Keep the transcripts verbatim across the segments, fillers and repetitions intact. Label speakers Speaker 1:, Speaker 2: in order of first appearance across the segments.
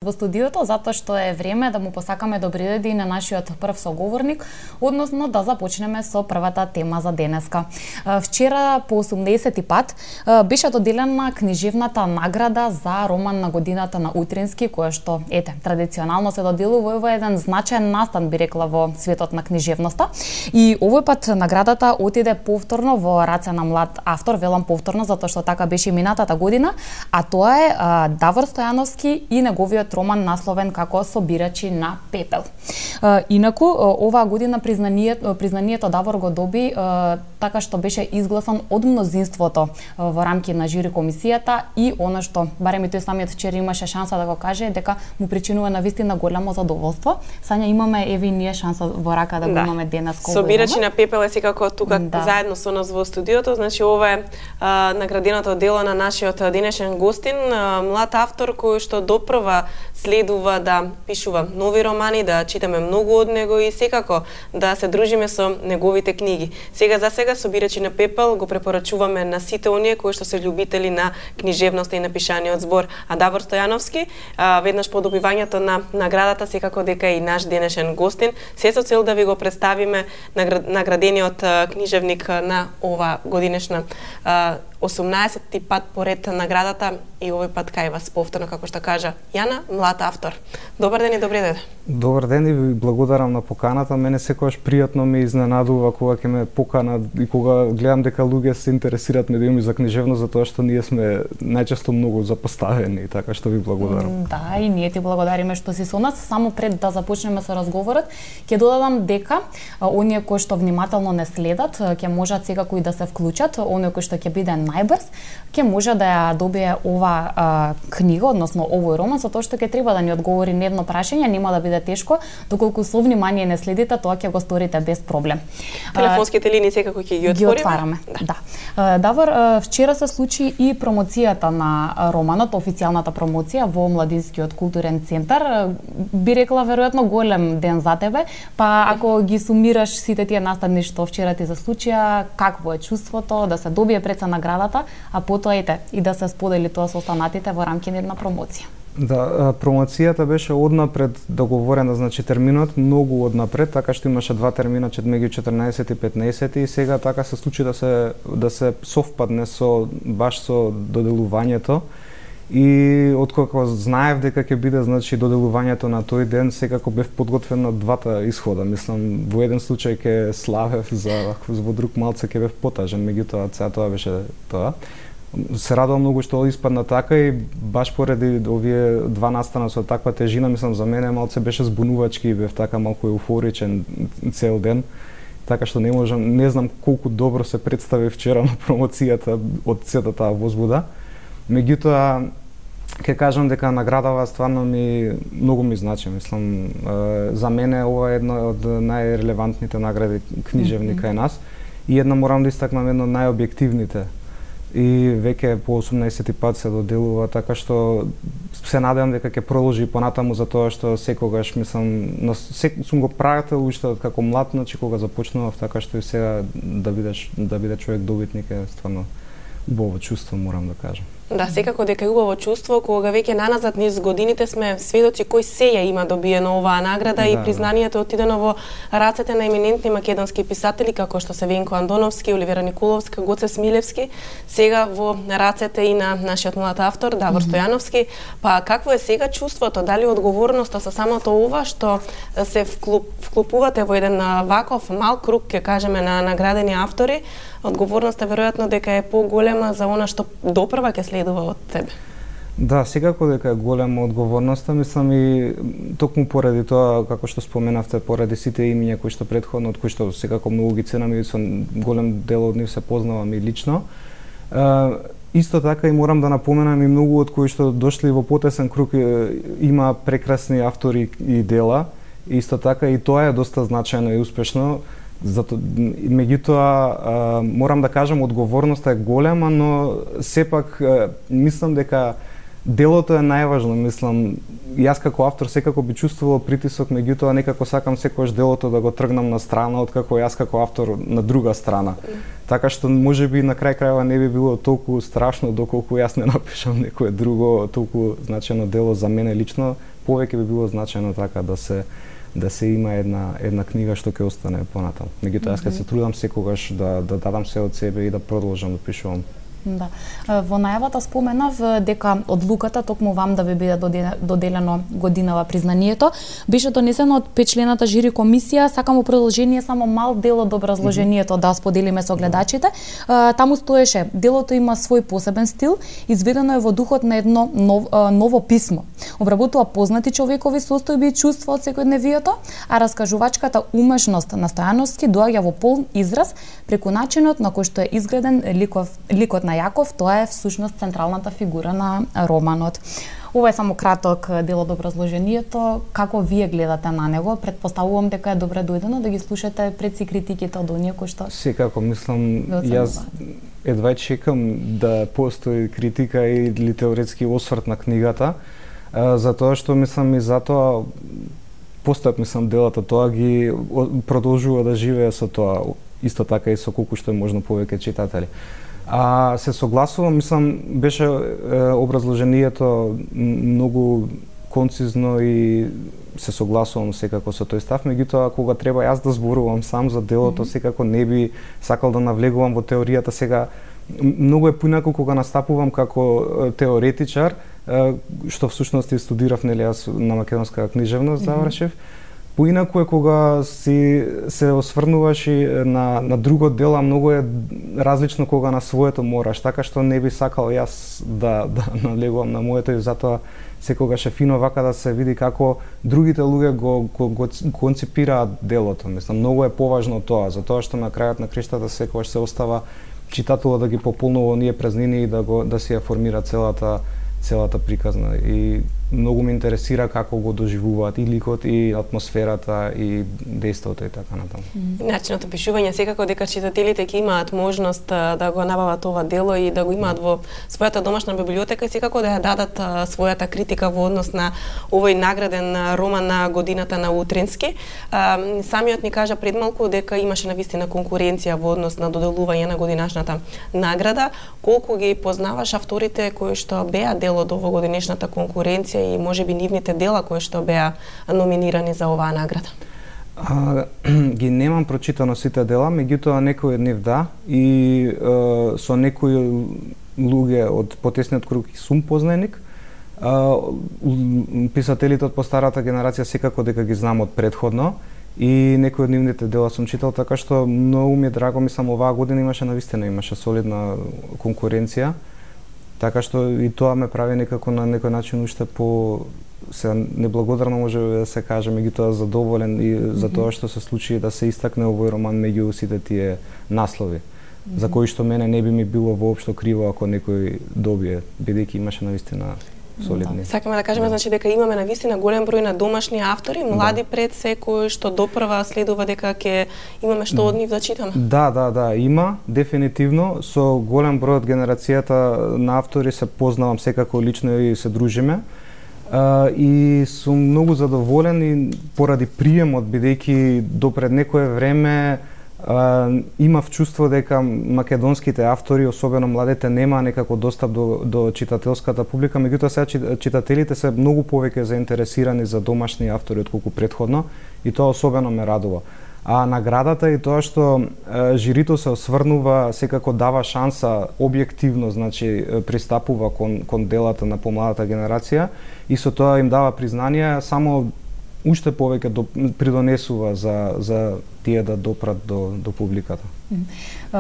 Speaker 1: во студиото, затоа што е време да му посакаме добри дојди на нашиот прв соговорник, односно да започнеме со првата тема за денеска. Вчера по осумдесети пат беше доделена книжевната награда за роман на годината на Утрински, која што, ете, традиционално се доделува во еден значаен настан, би рекла, во светот на книжевноста. И овој пат наградата отиде повторно во раце на млад автор, велам повторно затоа што така беше минатата година, а тоа е а, Давор Стојановски и неговиот роман насловен како Собирачи на пепел. А, инаку, оваа година признанието, признанието Давор го доби а, така што беше изгласан од мнозинството а, во рамки на жури комисијата и она што, барем и тој самиот вчера имаше шанса да го каже, дека му причинува навистина голямо задоволство. Сања, имаме, еве и ние шанса во рака да го
Speaker 2: да.
Speaker 1: имаме денес.
Speaker 2: Собирачи на пепел е секако тука
Speaker 1: да.
Speaker 2: заедно со нас во студиото. Значи, ова е а, награденото дело на нашиот денешен гостин, а, млад автор кој што допрва следува да пишува нови романи, да читаме многу од него и секако да се дружиме со неговите книги. Сега за сега Собирачи на пепел го препорачуваме на сите оние кои што се љубители на книжевноста и на пишаниот збор. А Давор Стојановски, а, веднаш по добивањето на наградата, секако дека и наш денешен гостин, се со цел да ви го представиме наградениот а, книжевник на ова годинешна а, осумнаесети пат поред наградата и овој пат кај вас повторно, како што кажа Јана, млад автор. Добар ден и добри дојде.
Speaker 3: Добар ден и ви благодарам на поканата. Мене секогаш пријатно ме изненадува кога ќе ме поканат и кога гледам дека луѓе се интересираат медиуми за книжевност, затоа што ние сме најчесто многу запоставени, така што ви благодарам.
Speaker 1: Да, и ние ти благодариме што си со нас. Само пред да започнеме со разговорот, ќе додадам дека а, оние кои што внимателно не следат, ќе можат секако и да се вклучат, оние кои што ќе биде најбрз, ќе може да ја добие ова а, книга, односно овој роман, со тоа што ќе треба да ни одговори на едно прашање, нема да биде тешко, доколку со внимание не следите, тоа ќе го сторите без проблем.
Speaker 2: Телефонските линии секако ќе ги
Speaker 1: Ги
Speaker 2: отвориме.
Speaker 1: отвараме. Да. да. Давор, вчера се случи и промоцијата на романот, официјалната промоција во Младинскиот културен центар. Би рекла веројатно голем ден за тебе, па ако ги сумираш сите тие настани што вчера ти се случија, какво е чувството да се добие пред се наградата, а потоа ете и да се сподели тоа со останатите во рамки на една промоција?
Speaker 3: Да, промоцијата беше однапред договорена, значи терминот многу однапред, така што имаше два термина, меѓу четрнаесети и петнаесети и сега така се случи да се да се совпадне со баш со доделувањето. И откако знаев дека ќе биде, значи, доделувањето на тој ден, секако бев подготвен на двата исхода. Мислам, во еден случај ќе славев, за во друг малце ќе бев потажен, меѓутоа цеа тоа беше тоа. Се радувам многу што испадна така и баш поради овие два настана со таква тежина, мислам, за мене малце беше збунувачки и бев така малку еуфоричен цел ден. Така што не можам, не знам колку добро се представи вчера на промоцијата од сета таа возбуда. Меѓутоа, ќе кажам дека наградава стварно ми многу ми значи, мислам, за мене ова е една од најрелевантните награди книжевни кај нас и една морам да истакнам една најобјективните. И веќе по осумнаесети пат се доделува, така што се надевам дека ќе продолжи понатаму, затоа што секогаш, мислам, сек, сум го прател уште како млад, значи кога започнував, така што и сега да бидеш да биде човек добитник е стварно убаво чувство, морам да кажам.
Speaker 2: Да, секако дека е убаво чувство, кога веќе наназад низ годините сме сведоци кој се ја има добиено оваа награда да, и признанието отидено во рацете на еминентни македонски писатели како што се Венко Андоновски, Оливера Николовска, Гоце Смилевски, сега во рацете и на нашиот млад автор Давор Стојановски. Па какво е сега чувството, дали одговорноста со самото ова што се вклуп, вклупувате во еден ваков мал круг, ќе кажеме, на наградени автори, одговорноста веројатно дека е поголема за она што допрва ќе следува од тебе.
Speaker 3: Да, секако дека е голема одговорноста, мислам и токму поради тоа, како што споменавте, поради сите имиња кои што претходно, од кои што секако многу ги ценам и со голем дел од нив се познавам и лично. Е, исто така и морам да напоменам и многу од кои што дошли во потесен круг има прекрасни автори и дела. Исто така и тоа е доста значајно и успешно. Зато, меѓутоа, морам да кажам, одговорноста е голема, но сепак мислам дека делото е најважно, мислам. Јас како автор секако би чувствувал притисок, меѓутоа некако сакам секогаш делото да го тргнам на страна, откако јас како автор на друга страна. Така што можеби на крај крајава не би било толку страшно доколку јас не напишам некое друго толку значено дело за мене лично, повеќе би било значено така да се да се има една една книга што ќе остане понатаму. Меѓутоа јас ќе се трудам секогаш да да дадам се од себе и да продолжам да пишувам.
Speaker 1: Да. Во најавата споменав дека одлуката токму вам да ви биде доделено годинава признанието беше донесено од петчлената жири комисија. Сакам во продолжение само мал дел од образложението да споделиме со гледачите. Таму стоеше: делото има свој посебен стил, изведено е во духот на едно нов, ново писмо. Обработува познати човекови состојби и чувства од секојдневието, а раскажувачката умешност на Стојановски доаѓа во полн израз преку начинот на кој што е изграден ликов, ликот на Јаков. Тоа е всушност централната фигура на романот. Ова е само краток дел од образложението. Како вие гледате на него? Предпоставувам дека е добре дојдено да ги слушате пред си критиките од оние кои што...
Speaker 3: Секако, мислам, јас едва чекам да постои критика или теоретски осврт на книгата, затоа што мислам и затоа постојат, мислам, делата, тоа ги продолжува да живее со тоа, исто така и со колку што е можно повеќе читатели. А се согласувам, мислам, беше е, образложението многу концизно и се согласувам секако со тој став, меѓутоа кога треба јас да зборувам сам за делото, mm -hmm. секако не би сакал да навлегувам во теоријата. Сега многу е поинаку кога настапувам како теоретичар, што всушност и студирав, нели, јас на македонска книжевност завршив. Mm -hmm. Поинаку е кога си се осврнуваш и на на друго дело, многу е различно кога на своето мораш, така што не би сакал јас да да налегувам на моето и затоа секогаш е фино вака да се види како другите луѓе го, го, го концепираат делото. Мислам, многу е поважно тоа, затоа што на крајот на криштата секогаш се остава читателот да ги пополнува оние празнини и да го да си ја формира целата целата приказна. И многу ме интересира како го доживуваат и ликот, и атмосферата, и дејството и така натаму.
Speaker 2: Mm. Начинот на пишување секако дека читателите ќе имаат можност да го набават ова дело и да го имаат во својата домашна библиотека и секако да ја дадат а, својата критика во однос на овој награден роман на годината на Утрински. А, самиот ни кажа пред малку дека имаше навистина конкуренција во однос на доделување на годинашната награда. Колку ги познаваш авторите кои што беа дел од овогодинешната конкуренција и можеби нивните дела кои што беа номинирани за оваа награда?
Speaker 3: А, ги немам прочитано сите дела, меѓутоа некои од нив да, и е, со некои луѓе од потесниот круг сум познаник. А, писателите од постарата генерација секако дека ги знам од предходно и некои од нивните дела сум читал, така што многу ми е драго, мислам, оваа година имаше навистина, имаше солидна конкуренција. Така што и тоа ме прави некако на некој начин уште по се неблагодарно може да се каже, меѓутоа задоволен и mm -hmm. за тоа што се случи да се истакне овој роман меѓу сите тие наслови, mm -hmm. за кои што мене не би ми било воопшто криво ако некој добие, бидејќи имаше навистина солидни.
Speaker 2: Да. Сакаме да кажеме, да. Значи дека имаме навистина голем број на домашни автори, млади да. Пред се кои што допрва следува дека ќе имаме што од нив да читаме.
Speaker 3: Да, да, да, има дефинитивно со голем број од генерацијата на автори се познавам секако лично и се дружиме. Uh, и сум многу задоволен и поради приемот, бидејќи допред некое време uh, имав чувство дека македонските автори, особено младите, нема некако достап до, до читателската публика, меѓутоа сега читателите се многу повеќе заинтересирани за домашни автори отколку предходно и тоа особено ме радува. А наградата и тоа што е, жирито се осврнува, секако дава шанса објективно, значи пристапува кон, кон делата на помладата генерација и со тоа им дава признание, само уште повеќе до, придонесува за, за тие да допрат до, до публиката.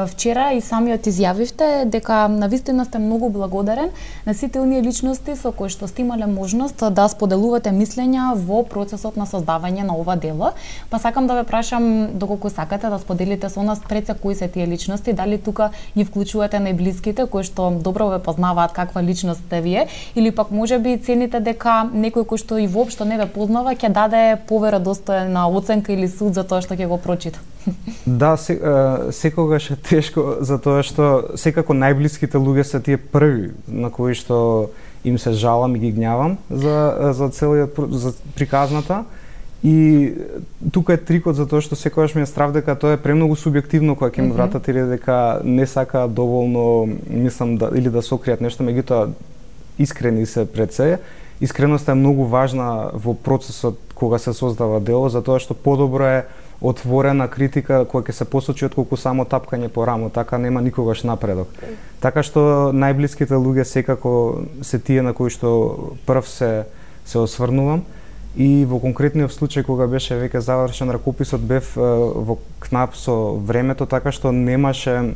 Speaker 1: Вчера и самиот изјавивте дека навистина сте многу благодарен на сите оние личности со кои што сте имале можност да споделувате мислења во процесот на создавање на ова дело. Па сакам да ве прашам доколку сакате да споделите со нас пред се кои се тие личности, дали тука ги вклучувате најблиските кои што добро ве познаваат каква личност сте вие, или пак можеби цените дека некој кој што и воопшто не ве познава ќе даде поверодостојна оценка или суд за тоа што ќе го прочита.
Speaker 3: Да, се, секогаш е тешко, затоа што секако најблиските луѓе се тие први на кои што им се жалам и ги гнјавам за за целиот за приказната. И тука е трикот за тоа што секогаш ми е страв дека тоа е премногу субјективно кога ќе ми вратат или дека не сака доволно, мислам, да, или да сокријат нешто, меѓутоа искрени се пред се. Искреноста е многу важна во процесот кога се создава дело, затоа што подобро е отворена критика која ќе се посочи отколку само тапкање по рамо, така нема никогаш напредок. Така што најблиските луѓе секако се тие на кои што прв се се осврнувам. И во конкретниот случај кога беше веќе завршен ракописот, бев во кнап со времето, така што немаше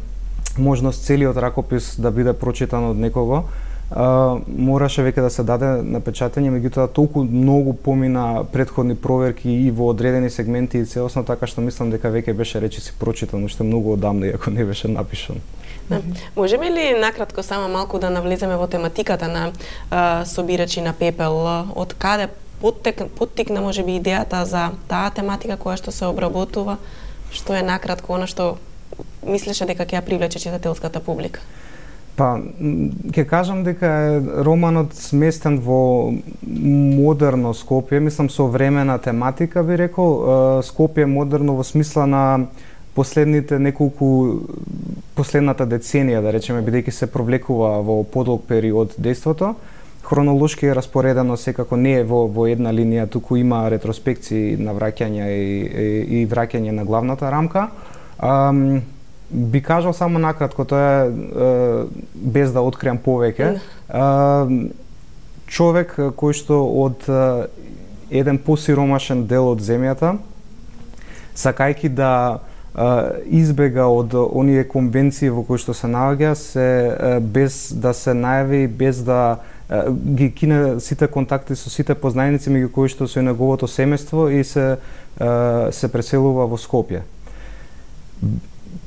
Speaker 3: можност целиот ракопис да биде прочитан од некого. Uh, мораше веќе да се даде на печатење, меѓутоа толку многу помина претходни проверки и во одредени сегменти и целосно, така што мислам дека веќе беше речиси прочитан уште многу одамна, иако не беше напишан.
Speaker 2: Да. Можеме ли накратко само малку да навлеземе во тематиката на uh, собирачи на пепел? Од каде поттек, поттикна можеби идејата за таа тематика која што се обработува? Што е накратко она што мислеше дека ќе ја привлече читателската публика?
Speaker 3: Па, ќе кажам дека е романот сместен во модерно Скопје, мислам современа тематика би рекол, Скопје модерно во смисла на последните неколку последната деценија, да речеме, бидејќи се провлекува во подолг период дејството. Хронолошки е распоредено, секако не е во во една линија, туку има ретроспекции на враќања и, и, и враќање на главната рамка. Um, Би кажал само накратко, тоа е, без да откриам повеќе, човек кој што од еден посиромашен дел од земјата, сакајќи да избега од оние конвенции во кои што се наоѓа, се без да се најави, без да ги кине сите контакти со сите познаеници меѓу кои што се неговото семејство и се се преселува во Скопје.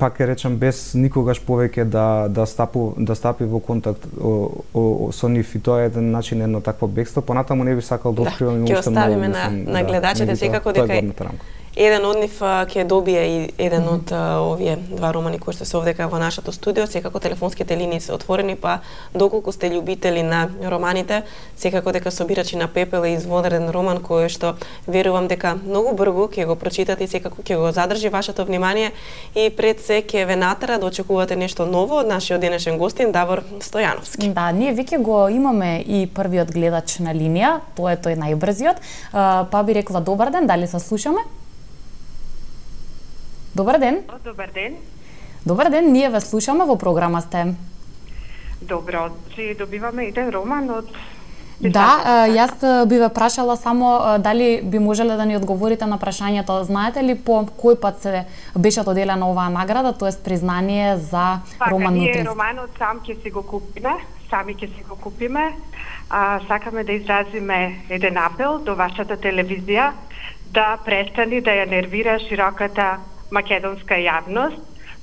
Speaker 3: Пак ќе речам, без никогаш повеќе да да стапу да стапи во контакт о, о, со нив, и тоа е еден начин едно такво бегство. Понатаму не би сакал да откривам
Speaker 2: уште многу. Ќе оставиме на, на гледачите секако дека еден од нив ќе добие и еден од mm -hmm. овие два романи кои што се овдека во нашето студио. Секако телефонските линии се отворени, па доколку сте љубители на романите, секако дека Собирачи на пепел е извонреден роман кој што верувам дека многу брзо ќе го прочитате и секако ќе го задржи вашето внимание и пред се ќе ве натера да очекувате нешто ново од нашиот денешен гостин Давор Стојановски.
Speaker 1: Да, ние веќе го имаме и првиот гледач на линија, тоа е тој најбрзиот. Па би рекла добар ден, дали се слушаме? Добар ден.
Speaker 4: Добар ден.
Speaker 1: Добар ден, ние ве слушаме, во програма сте.
Speaker 4: Добро, че добиваме еден роман од...
Speaker 1: Да, јас би ве прашала само дали би можеле да ни одговорите на прашањето. Знаете ли по кој пат се беше доделена оваа награда, тоест признание за
Speaker 4: Пака,
Speaker 1: роман
Speaker 4: ние
Speaker 1: Нутрински?
Speaker 4: романот сам ќе си го купиме, сами ќе си го купиме. А, сакаме да изразиме еден апел до вашата телевизија да престани да ја нервира широката македонска јавност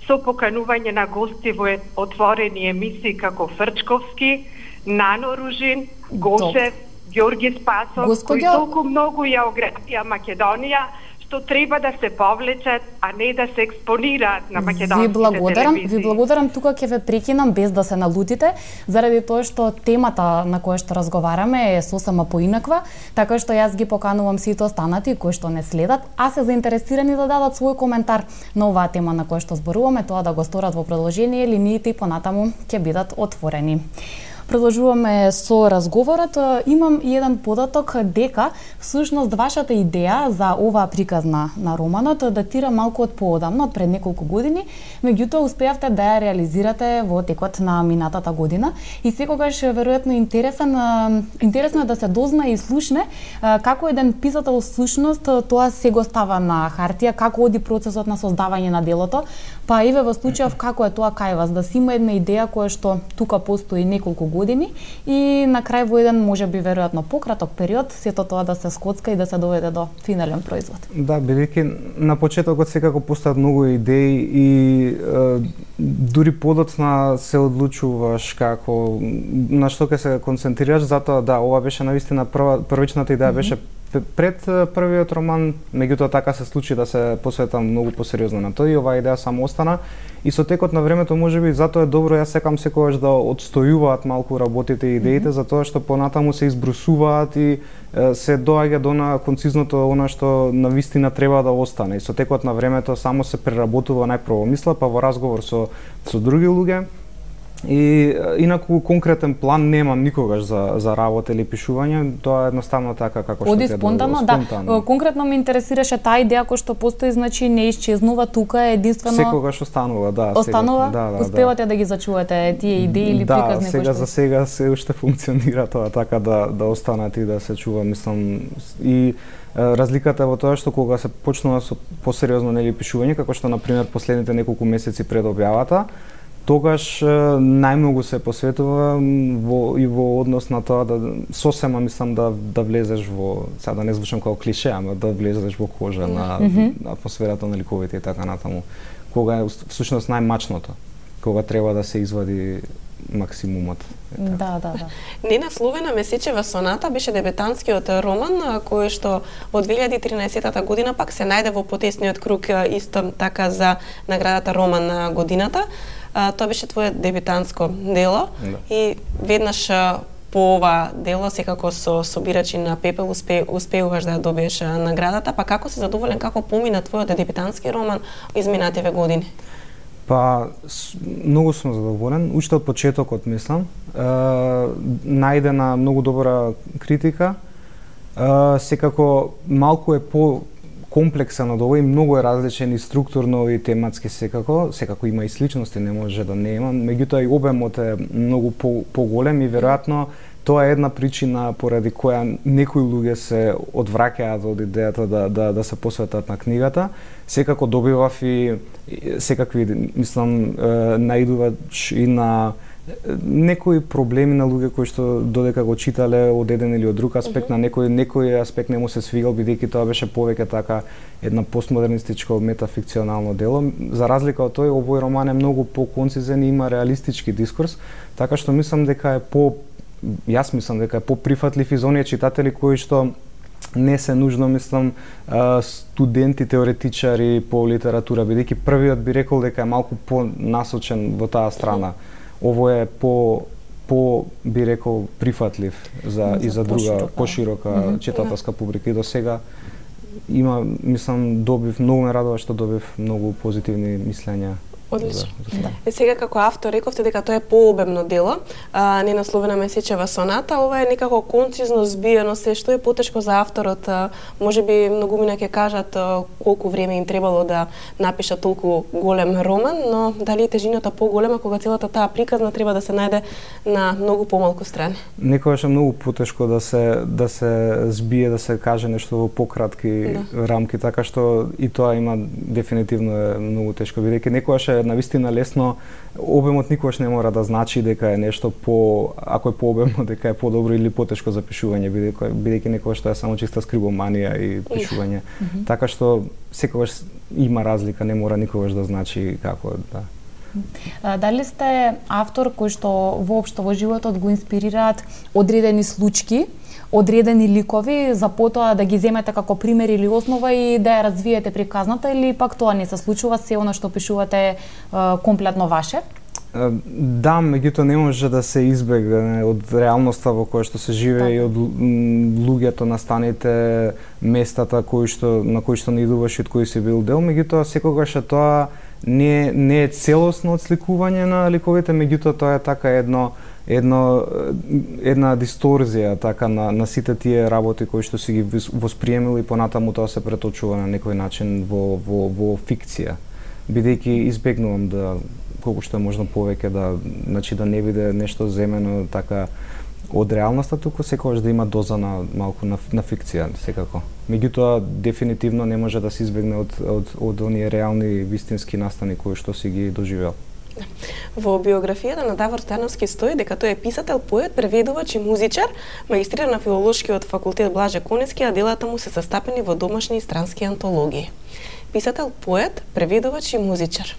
Speaker 4: со поканување на гости во отворени емисии како Фрчковски, Нано Ружин, Гошев, Ѓорги Спасов,
Speaker 1: Господи...
Speaker 4: кои толку многу ја ограбија Македонија, што треба да се повлечат, а не да се експонираат на македонските
Speaker 1: ви благодарам,
Speaker 4: телевизии.
Speaker 1: Ви благодарам, тука ќе ве прекинам без да се налутите, заради тоа што темата на која што разговараме е сосема поинаква, така што јас ги поканувам сите останати кои што не следат, а се заинтересирани да дадат свој коментар на оваа тема на која што зборуваме, тоа да го сторат во продолжение, линиите и понатаму ќе бидат отворени. Продолжуваме со разговорот. Имам и еден податок дека всушност вашата идеја за оваа приказна на романот датира малку од поодамно, од пред неколку години, меѓутоа успеавте да ја реализирате во текот на минатата година и секогаш веројатно интересен интересно е да се дозна и слушне како еден писател всушност тоа се го става на хартија, како оди процесот на создавање на делото, па еве во случајов како е тоа кај вас, да си има една идеја која што тука постои неколку години и на крај во еден можеби веројатно пократок период сето тоа да се скоцка и да се доведе до финален производ.
Speaker 3: Да, бидејќи на почетокот секако постојат многу идеи и е, дури подоцна се одлучуваш како на што ќе се концентрираш, затоа да, ова беше навистина прва првичната идеја беше пред првиот роман, меѓутоа така се случи да се посветам многу посериозно на тој и оваа идеја само остана. И со текот на времето можеби затоа е добро, јас секам секогаш да отстојуваат малку работите и идеите, mm -hmm. затоа што понатаму се избрусуваат и е, се доаѓа до на концизното она што навистина треба да остане. И со текот на времето само се преработува најпрво мисла, па во разговор со со други луѓе. И инаку конкретен план немам никогаш за за работа или пишување, тоа е едноставно така како што
Speaker 1: Оди спонтано, да. Спонтано. Конкретно ме интересираше таа идеја која што постои, значи не исчезнува тука, е единствено
Speaker 3: секогаш останува, да.
Speaker 1: Останува?
Speaker 3: Сега, да, да,
Speaker 1: успевате да. да ги зачувате тие идеи или
Speaker 3: да,
Speaker 1: приказни кои што
Speaker 3: сега за сега се уште функционира тоа така да да останат и да се чува, мислам, и разликата во тоа што кога се почнува со посериозно нели пишување, како што на пример последните неколку месеци пред објавата, тогаш најмногу се посветува во и во однос на тоа да сосема мислам да да влезеш во, сега да не звучам како клише, ама да влезеш во кожа на mm -hmm. атмосферата на ликовите и така натаму. Кога е всушност најмачното, кога треба да се извади максимумот.
Speaker 1: Да, да, да.
Speaker 2: Нена Словена Месечева соната беше дебютантскиот роман кој што во две илјади и тринаесетта година пак се најде во потесниот круг исто така за наградата роман на годината. А, тоа беше твое дебютантско дело да. И веднаш по ова дело секако со собирачи на Пепел успе, успеуваш да добиеш наградата, па како си задоволен, како помина твојот дебютантски роман изминативе години?
Speaker 3: Па многу сум задоволен, уште од почетокот мислам. Е, најдена многу добра критика. Е, секако малку е по комплексен од ова и многу е различен и структурно и тематски секако, секако има и сличности, не може да не има, меѓутоа и обемот е многу по поголем и веројатно тоа е една причина поради која некои луѓе се одвраќаат од идејата да да да се посветат на книгата. Секако добивав и секакви мислам наидуваш и на некои проблеми на луѓе кои што додека го читале од еден или од друг аспект, mm -hmm. на некој некој аспект не му се свигал бидејќи тоа беше повеќе така една постмодернистичко метафикционално дело. За разлика од тој, овој роман е многу поконцизен и има реалистички дискурс, така што мислам дека е по јас мислам дека е поприфатлив и за оние читатели кои што не се нужно, мислам, студенти, теоретичари по литература, бидејќи првиот би рекол дека е малку понасочен во таа страна. Ово е по по би рекол прифатлив за, за и за друга поширока mm -hmm. читателска публика и до сега има, мислам, добив, многу ме радува што добив многу позитивни мислења.
Speaker 2: Одлично. Да. Е, сега како автор рековте дека тоа е пообемно дело, а, Нена Словена Месечева соната, ова е некако концизно збиено се, што е потешко за авторот, а, можеби многумина ќе кажат а, колку време им требало да напишат толку голем роман, но дали е тежината поголема кога целата таа приказна треба да се најде на многу помалку страни?
Speaker 3: Некогаш е многу потешко да се да се збие, да се каже нешто во пократки да. рамки, така што и тоа има дефинитивно е многу тешко, бидејќи некогаш е навистина лесно, обемот никогаш не мора да значи дека е нешто по, ако е пообемно, дека е подобро или потешко за пишување, бидејќи бидејќи некогаш тоа е само чиста скрибоманија и пишување. Mm -hmm. Така што секогаш има разлика, не мора никогаш да значи како да.
Speaker 1: Дали сте автор кој што воопшто во животот го инспирираат одредени случаи, одредени ликови, за потоа да ги земете како пример или основа и да ја развиете приказната, или пак тоа не се случува, се она што пишувате е комплетно ваше?
Speaker 3: Да, меѓутоа не може да се избегне од реалноста во која што се живее и од луѓето, настаните, местата кои што на кои што не идуваш и од кои си бил дел, меѓутоа секогаш е тоа не не е целосно отсликување на ликовите, меѓутоа тоа е така едно едно една дисторзија така на на сите тие работи кои што си ги восприемил и понатаму тоа се преточува на некој начин во во во фикција, бидејќи избегнувам да колку што е можно повеќе да, значи да не биде нешто земено така од реалноста, туку секогаш да има доза на малку на, на фикција секако. Меѓутоа дефинитивно не може да се избегне од од од оние реални вистински настани кои што си ги доживел.
Speaker 2: Во биографијата на Давор Стојановски стои дека тој е писател, поет, преведувач и музичар, магистриран на филолошкиот факултет Блаже Конески, а делата му се састапени во домашни и странски антологии. писател, поет, преведувач и музичар.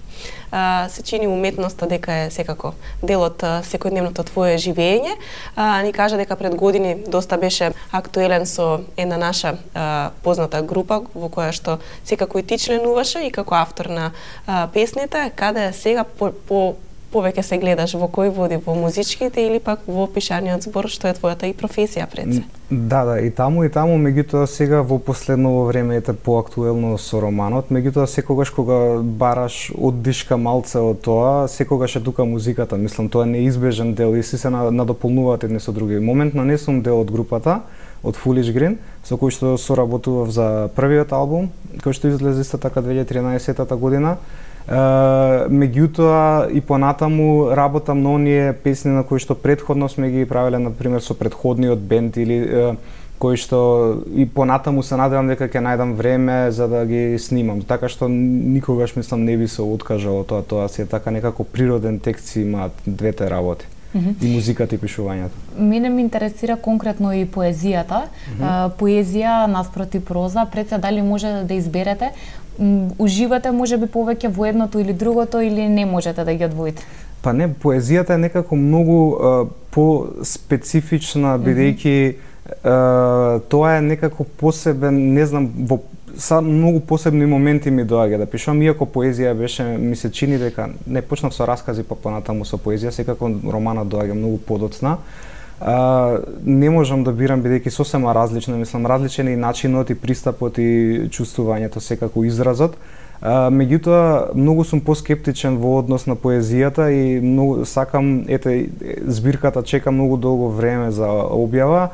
Speaker 2: А, се чини уметноста дека е секако дел од секојдневното твое живење. А, ни кажа дека пред години доста беше актуелен со една наша а, позната група во која што секако и ти членуваше и како автор на а, песните. Каде сега по, по повеќе се гледаш, во кој води, во музичките или пак во пишаниот збор, што е твојата и професија пред се?
Speaker 3: Да, да, и таму и таму, меѓутоа сега во последно време ете поактуелно со романот, меѓутоа секогаш кога бараш оддишка малце од тоа, секогаш е тука музиката, мислам, тоа е неизбежен дел и си се надополнуваат едни со други. Моментно не сум дел од групата, од Foolish Green, со кој што соработував за првиот албум, кој што излезе исто така две илјади и тринаесетта година. Uh, меѓутоа и понатаму работам на оние песни на кои што претходно сме ги правеле, например со претходниот бенд или uh, кои што и понатаму се надевам дека ќе најдам време за да ги снимам. Така што никогаш мислам не би се откажал од тоа, тоа си е така некако природен текст си имаат двете работи. Mm-hmm. И музиката и пишувањето.
Speaker 1: Мене ме интересира конкретно и поезијата. Mm-hmm. Uh, поезија наспроти проза, пред се дали може да изберете? Уживате можеби повеќе во едното или другото или не можете да ги одвоите?
Speaker 3: Па не, поезијата е некако многу uh, по-специфична, бидејќи uh, тоа е некако посебен, не знам, во са многу посебни моменти ми доаѓа да пишувам, иако поезија беше, ми се чини дека не почнав со раскази, па понатаму со поезија, секако романот доаѓа многу подоцна. Uh, не можам да бирам бидејќи сосема различно, мислам, различен е и начинот и пристапот и чувствувањето, секако изразот. Uh, меѓутоа, многу сум поскептичен во однос на поезијата и многу сакам, ете, збирката чека многу долго време за објава.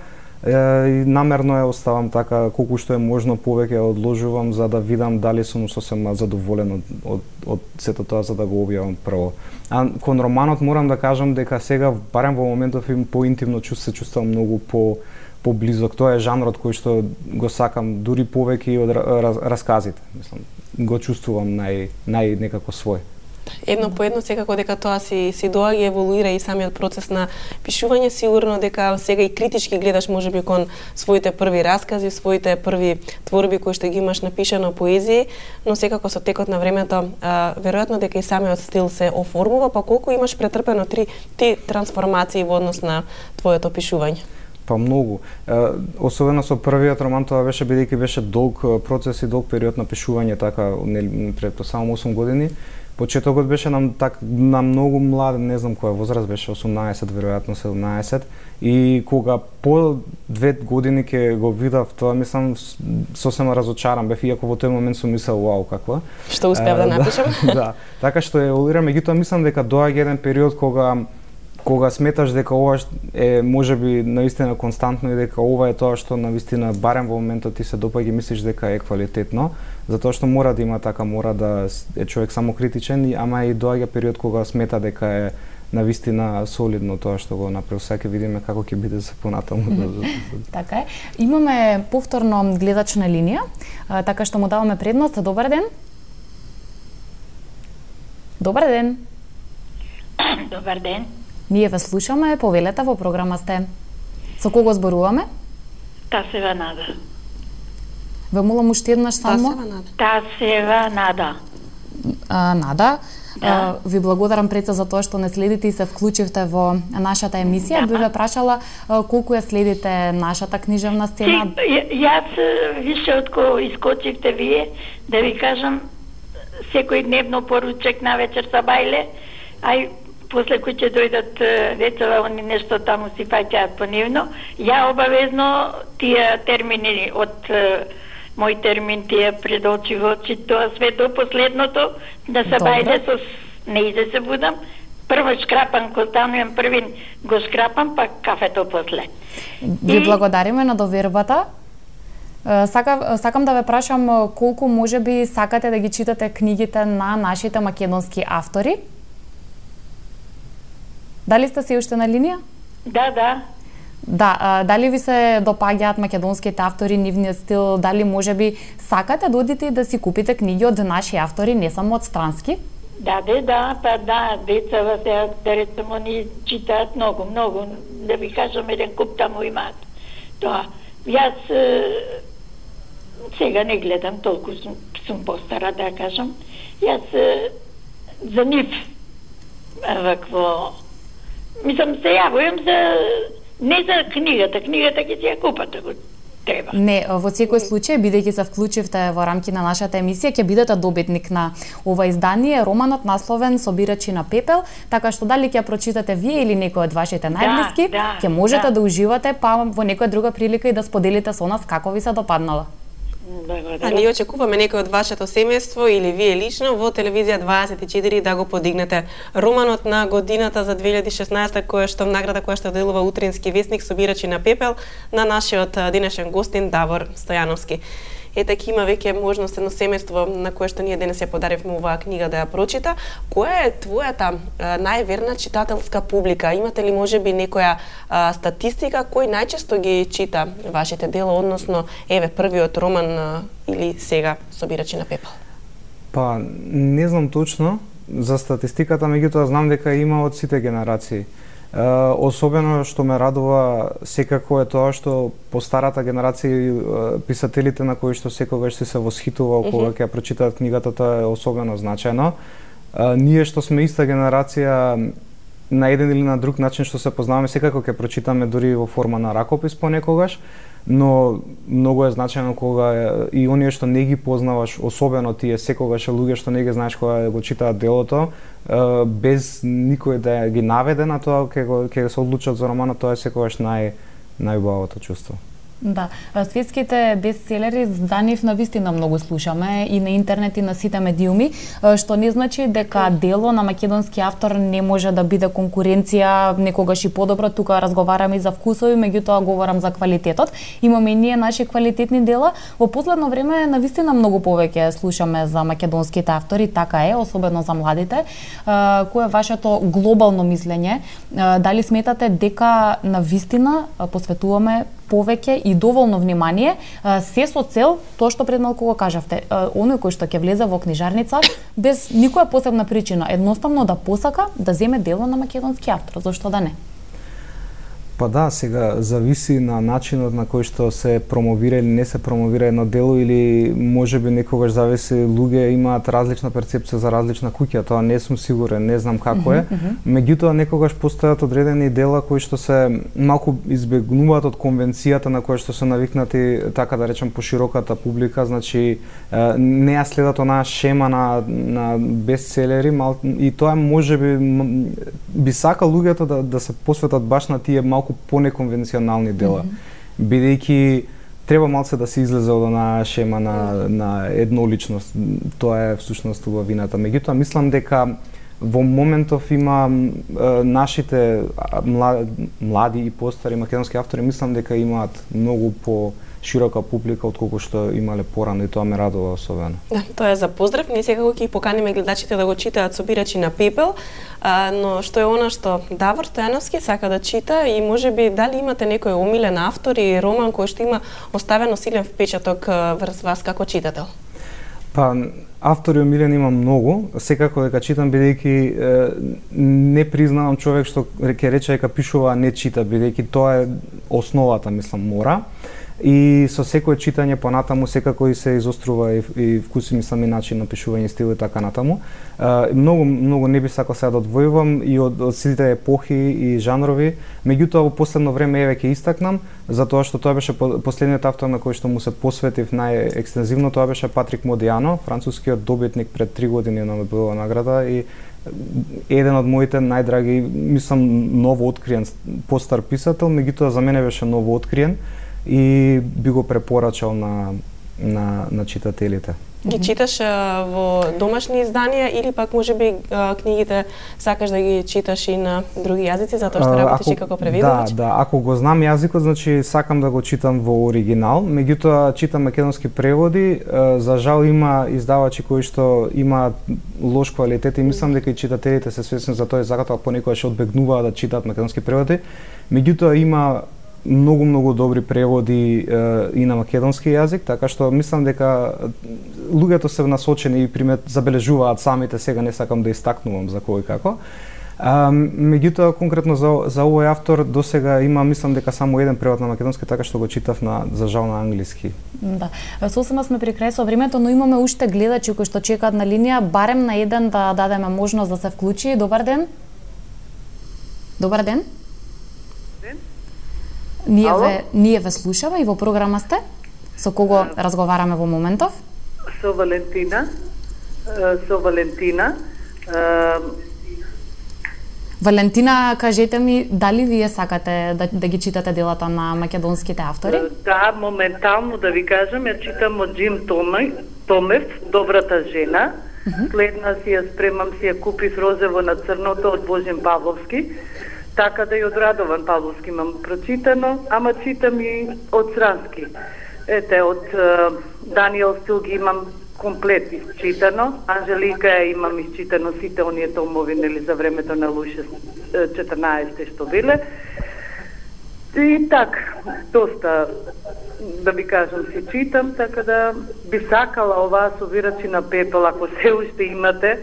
Speaker 3: Uh, и намерно ја оставам така, колку што е можно повеќе одложувам за да видам дали сум сосема задоволен од, од, од сето тоа за да го објавам прво. А кон романот морам да кажам дека сега, барем во моментов, им поинтимно чувство, се чувствувам многу по поблизок. Тоа е жанрот кој што го сакам дури повеќе од раз, расказите. Мислам, го чувствувам нај нај некако свој.
Speaker 2: Едно по едно секако дека тоа си си доаѓа, еволуира и самиот процес на пишување, сигурно дека сега и критички гледаш можеби кон своите први раскази, своите први творби кои што ги имаш напишано поезија, но секако со текот на времето а, веројатно дека и самиот стил се оформува, па колку имаш претрпено три ти трансформации во однос на твоето пишување?
Speaker 3: Па многу. Особено со првиот роман, тоа беше бидејќи беше долг процес и долг период на пишување, така пред само осум години. Почетокот беше на, так, на многу млад, не знам која возраст беше, осумнаесет, веројатно седумнаесет, и кога по две години ќе го видав тоа, мислам, сосема разочаран бев, иако во тој момент сум мислел, вау, каква.
Speaker 2: Што успеав да напишам?
Speaker 3: Да, да, така што еволуира, меѓутоа мислам дека доаѓа еден период кога кога сметаш дека ова е можеби наистина константно и дека ова е тоа што навистина барем во моментот ти се допаѓа и мислиш дека е квалитетно, затоа што мора да има така, мора да е човек самокритичен, ама и доаѓа период кога смета дека е навистина солидно тоа што го направи. Сега ќе видиме како ќе биде се понатаму.
Speaker 1: Така е. Имаме повторно гледач на линија, така што му даваме предност. Добар ден. Добар ден.
Speaker 5: Добар ден.
Speaker 1: Ние ве слушаме, повелете, во програма сте. Со кого зборуваме?
Speaker 5: Тасева Нада.
Speaker 1: Ве молам уште еднаш само.
Speaker 2: Тасева Нада.
Speaker 5: Тасева Нада.
Speaker 1: А, Нада,
Speaker 5: да.
Speaker 1: а, ви благодарам пред за тоа што не следите и се вклучивте во нашата емисија. Да. Би ве прашала а, колку ја следите нашата книжевна сцена.
Speaker 5: Јас више од кој искочивте вие, да ви кажам, секој дневно поручек на вечер са бајле, ај после кој ќе дојдат децава, они нешто таму си фаќаат понивно. Ја обавезно тие термини од мој термин тие пред очи во очи, тоа све до последното, да се бајде со неиде се будам. Прво шкрапам, ко станувам првин го шкрапам, па кафето после.
Speaker 1: Ви благодариме на довербата. Сака, сакам да ве прашам колку можеби сакате да ги читате книгите на нашите македонски автори? Дали сте се уште на линија?
Speaker 5: Да, да.
Speaker 1: Да, а, дали ви се допаѓаат македонските автори, нивниот стил, дали можеби сакате да одите и да си купите книги од наши автори, не само од странски?
Speaker 5: Да, да, да, па да, децава се, да речемо, ни читаат многу, многу, да ви кажам, еден куп таму имаат. Тоа, јас сега не гледам, толку сум, сум постара, да кажам. Јас е, за нив вакво... Мислам, се јавувам за... Не за книгата, книгата ќе си ја купат, ако треба.
Speaker 1: Не, во секој случај, бидејќи се вклучивте во рамки на нашата емисија, ќе бидете добитник на ова издание, романот насловен Собирачи на пепел, така што дали ќе прочитате вие или некој од вашите најблиски,
Speaker 5: да,
Speaker 1: ќе можете
Speaker 5: да.
Speaker 1: да уживате, па во некоја друга прилика и да споделите со нас како ви се допаднала.
Speaker 2: А ние очекуваме некој од вашето семејство или вие лично во телевизија дваесет и четири да го подигнете романот на годината за две илјади и шеснаесета, која што награда која што делува Утрински весник Собирачи на пепел на нашиот денешен гостин Давор Стојановски. Ете, има веќе можност едно семејство на кое што ние денес ја подаривме оваа книга да ја прочита. Која е твојата а, најверна читателска публика? Имате ли можеби некоја а, статистика кој најчесто ги чита вашите дела, односно еве првиот роман а, или сега Собирачи на пепел?
Speaker 3: Па не знам точно за статистиката, меѓутоа знам дека има од сите генерации. Uh, особено што ме радува секако е тоа што по старата генерација uh, писателите на кои што секогаш се се восхитува кога ќе mm-hmm. прочитаат книгата, тоа е особено значајно. Uh, ние што сме иста генерација на еден или на друг начин што се познаваме, секако ќе прочитаме дури во форма на ракопис понекогаш, но многу е значајно кога и оние што не ги познаваш, особено тие секогаш луѓе што не ги знаеш кога го читаат делото, без никој да ги наведе на тоа, ќе го ќе се одлучат за романот, тоа е секогаш нај најубавото чувство.
Speaker 1: Да, светските бестселери за нив навистина многу слушаме и на интернет и на сите медиуми, што не значи дека дело на македонски автор не може да биде конкуренција некогаш и подобро. Тука разговараме и за вкусови, меѓутоа говорам за квалитетот. Имаме и ние наши квалитетни дела. Во последно време навистина многу повеќе слушаме за македонските автори, така е, особено за младите. Кој е вашето глобално мислење? Дали сметате дека навистина посветуваме повеќе и доволно внимание, се со цел тоа што пред малку го кажавте, оној кој што ќе влезе во книжарница без никоја посебна причина, едноставно да посака да земе дело на македонски автор, зошто да не?
Speaker 3: Па да, сега зависи на начинот на кој што се промовира или не се промовира едно дело, или можеби некогаш зависи, луѓе имаат различна перцепција за различна куќа, тоа не сум сигурен, не знам како е. Mm -hmm. Меѓутоа некогаш постојат одредени дела кои што се малку избегнуваат од конвенцијата на која што се навикнати, така да речем, пошироката публика, значи не ја следат онаа шема на на бестселери, мал, и тоа можеби би сакал луѓето да да се посветат баш на тие малку понеконвенционални дела, mm -hmm. бидејќи треба малце да се излезе од онаа шема на на едноличност. Тоа е всушност убавината. Меѓутоа мислам дека во моментов има е, нашите млади, млади и постари македонски автори, мислам дека имаат многу по широка публика отколку што имале порано, и тоа ме радува особено.
Speaker 2: Да, тоа е за поздрав. Ние секако ќе поканиме гледачите да го читаат Собирачи на пепел, а, но што е она што Давор Стојановски сака да чита, и можеби дали имате некој омилен автор и роман кој што има оставено силен впечаток врз вас како читател?
Speaker 3: Па, автори омилен има многу, секако дека читам, бидејќи не признавам човек што ќе рече дека пишува, а не чита, бидејќи тоа е основата, мислам, мора. И со секое читање понатаму секако и се изострува и, и вкуси, мислам, и начин на пишување, стил и така натаму. Uh, многу многу не би сакал сега да одвојувам и од, од сите епохи и жанрови, меѓутоа во последно време еве ќе истакнам, затоа што тоа беше последниот автор на кој што му се посветив најекстензивно, тоа беше Патрик Модиано, францускиот добитник пред три години на Нобелова награда, и еден од моите најдраги, мислам, ново откриен постар писател, меѓутоа за мене беше ново откриен и би го препорачал на на на читателите.
Speaker 2: Ги читаш а, во домашни изданија или пак можеби а, книгите сакаш да ги читаш и на други јазици, затоа што работиш и како преведувач?
Speaker 3: Да, да, ако го знам јазикот, значи сакам да го читам во оригинал, меѓутоа читам македонски преводи. За жал има издавачи кои што имаат лош квалитет и мислам дека и читателите се свесни за тоа и затоа понекогаш одбегнуваат да читаат македонски преводи. Меѓутоа има многу многу добри преводи е, и на македонски јазик, така што мислам дека луѓето се насочени и примет забележуваат самите, сега не сакам да истакнувам за кој како. А, меѓутоа конкретно за за овој автор досега има, мислам дека само еден превод на македонски, така што го читав на за жал на англиски.
Speaker 1: Да. Сосема сме при крај со времето, но имаме уште гледачи кои што чекаат на линија, барем на еден да дадеме можност да се вклучи. Добар ден. Добар ден.
Speaker 6: Ден.
Speaker 1: Ние ве ние ве слушаме и во програма сте. Со кого разговараме во моментов?
Speaker 6: Со Валентина. Со Валентина.
Speaker 1: Валентина, кажете ми, дали вие сакате да, да ги читате делата на македонските автори?
Speaker 6: Да, моментално да ви кажам, ја читам од Джим Томев, Добрата жена. Uh -huh. Следна си ја спремам, си ја купив Розево на црното од Божин Павловски. Така да и од Радован Павловски имам прочитано, ама читам и од Срански. Ете, од Даниел Стилги имам комплет изчитано. Анжелика ја имам изчитано сите оние томови, нели, за времето на Луише четрнаесетте што биле. И така, доста, да ви кажам, си читам, така да би сакала оваа Собирачи на пепел, ако се уште имате.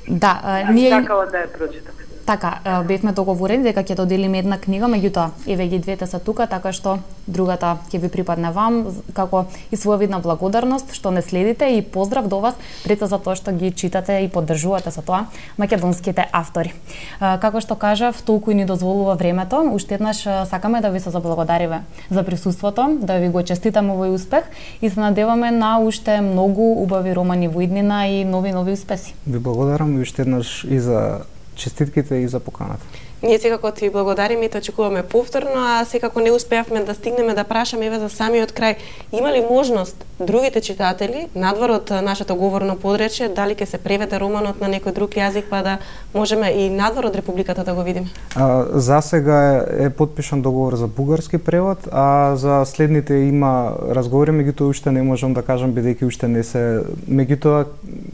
Speaker 1: Да, а, ние...
Speaker 6: сакала да ја прочитам.
Speaker 1: Така, бевме договорени дека ќе доделиме една книга, меѓутоа, еве ги двете се тука, така што другата ќе ви припадне вам, како и своја видна благодарност што не следите и поздрав до вас, пред за тоа што ги читате и поддржувате со тоа македонските автори. Како што кажав, толку и ни дозволува времето, уште еднаш сакаме да ви се заблагодариме за присуството, да ви го честитаме овој успех и се надеваме на уште многу убави романи во иднина и нови нови успеси.
Speaker 3: Ви благодарам и уште еднаш и за честитките и за поканата.
Speaker 2: Ние секако ти благодариме и те очекуваме повторно, а секако не успеавме да стигнеме да прашаме еве за самиот крај. Има ли можност другите читатели, надвор од нашето говорно подречје, дали ќе се преведе романот на некој друг јазик, па да можеме и надвор од Републиката да го видиме?
Speaker 3: А, за сега е, е подпишан договор за бугарски превод, а за следните има разговори, меѓутоа уште не можам да кажам бидејќи уште не се, меѓутоа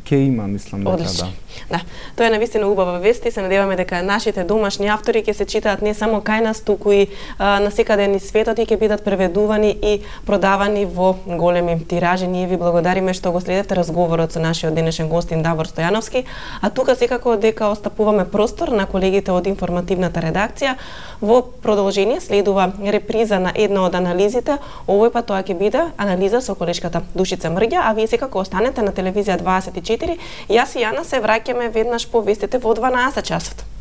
Speaker 3: ќе има, мислам дека
Speaker 2: Одлично.
Speaker 3: да.
Speaker 2: Да, тоа е навистина убава вест и се надеваме дека нашите домашни автори ќе се читаат не само кај нас, туку и а, на секаде низ светот и ќе бидат преведувани и продавани во големи тиражи. Ние ви благодариме што го следевте разговорот со нашиот денешен гостин Давор Стојановски, а тука секако дека остапуваме простор на колегите од информативната редакција. Во продолжение следува реприза на една од анализите. Овој пат тоа ќе биде анализа со колешката Душица Мрѓа, а вие секако останете на телевизија дваесет и четири. Јас и Јана се враќаме веднаш по вестите во дванаесет часот.